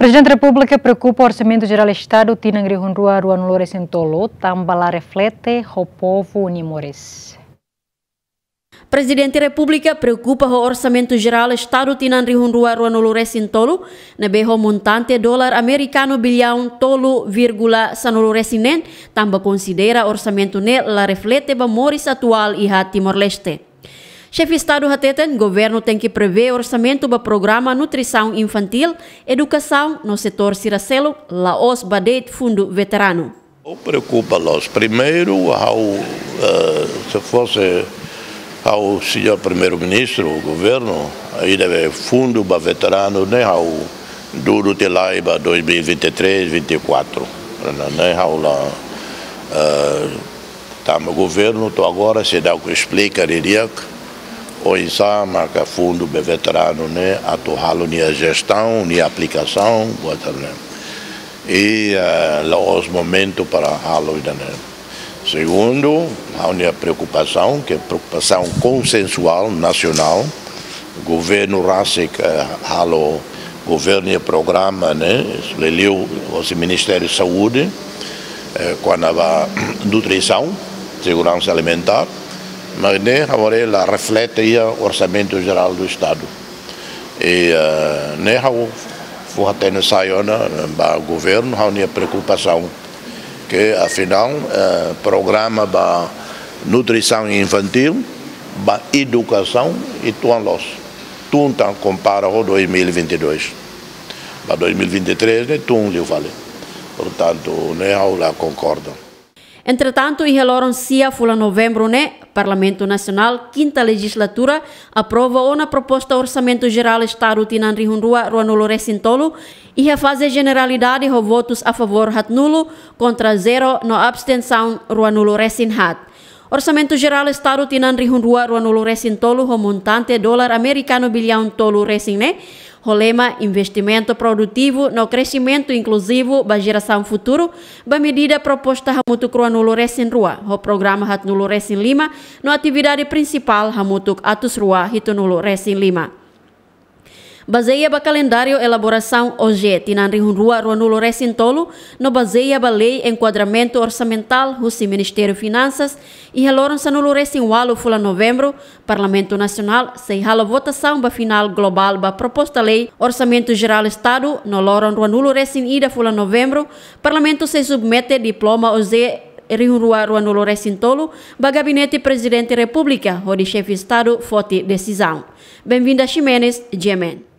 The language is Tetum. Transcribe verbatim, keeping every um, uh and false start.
Prezidente Repúblika preokupa Orsamentu Jerál Estadu tinan rihun rua ruanulu resin tolu, tanba la reflete ho povu nia moris. Prezidente Repúblika preokupa ho Orsamentu Jerál Estadu tinan rihun rua ruanulu resin tolu, ne'ebé ho montante dolar amerikanu biliaun tolu vírgula sanulu resin neen, tanba konsidera orsamentu ne'e la reflete ba moris atuál iha Timor-Leste. Xefe Estadu hateten, governu tenke prevee orsamentu ba programa nutrisaun infantíl, edukasaun no setór sira seluk, la'ós ba de'it fundu veteranu. Preokupa loos. Primeiru, ha'u, eh, se fosse ha'u, señór Primeiru-Ministru, governu, ida-ne'e fundu ba veteranu ne'e ha'u dudu tiha lai ba dois mil e vinte e três, vinte e quatro. Ne'e ha'u la, eh, tanba governu to'o agora seidauk esplika didi'ak oinsá maka fundu ba veteranu ne'e atu halo nia jestaun, nia aplikasaun, buat ne'e. I, eh, la'ós momentu para halo ida-ne'e. Segundu, ha'u-nia preokupasaun, ke preokupasaun konsensuál nasionál, governu rasik, eh, halo governu nia programa ne'e, liuliu hosi Ministériu Saúde, eh, kona-ba nutrisaun, seguransa alimentár, mas ne'e ha'u haree la reflete iha Orsamentu Jerál do Estadu. I, eh, ne'e ha'u fó hatene sai ona ba governu, ha'u-nia preokupasaun ke afinál, eh, programa ba nutrisaun infantíl, ba edukasaun, i tun loos. Tun tan kompara ho dois mil e vinte e dois. Ba dois mil e vinte e três ne'e tun liu fali. Portantu, ne'e ha'u la konkorda. Entretantu, iha loron sia fulan Novembru ne'e, Parlamentu Nasionál, kinta lejizlatura, aprova ona proposta Orsamentu Jerál Estadu tinan rihun rua ruanulu resin tolu, iha faze jeneralidade ho votus a favór haatnulu, kontra zero no abstensaun ruanulu resin haat. Orsamentu Jerál Estadu tinan rihun rua ruanulu resin tolu ho montante dolar amerikanu biliaun tolu resin neen, ho lema Investimentu Produtivu no Kresimentu Inkluzivu ba Jerasaun Futuru, ba medida proposta hamutuk ruanulu resin rua, ho programa haatnulu resin lima, no atividade prinsipál hamutuk atus rua hitunulu resin lima. Bazeia ba kalendáriu elaborasaun O J tinan rihun rua ruanulu resin tolu, no bazeia ba lei enkuadramentu orsamentál husi Ministériu Finansas, iha loron sanulu resin ualu fulan Novembru, Parlamentu Nasionál sei halo votasaun ba finál globál ba proposta lei Orsamentu Jerál Estadu, no loron ruanulu resin ida fulan Novembru, Parlamentu sei submete diploma O J rihun rua ruanulu resin tolu ba Gabinete Prezidente Repúblika, hodi Xefe Estadu foti desizaun. Benvinda Ximenes, G M N.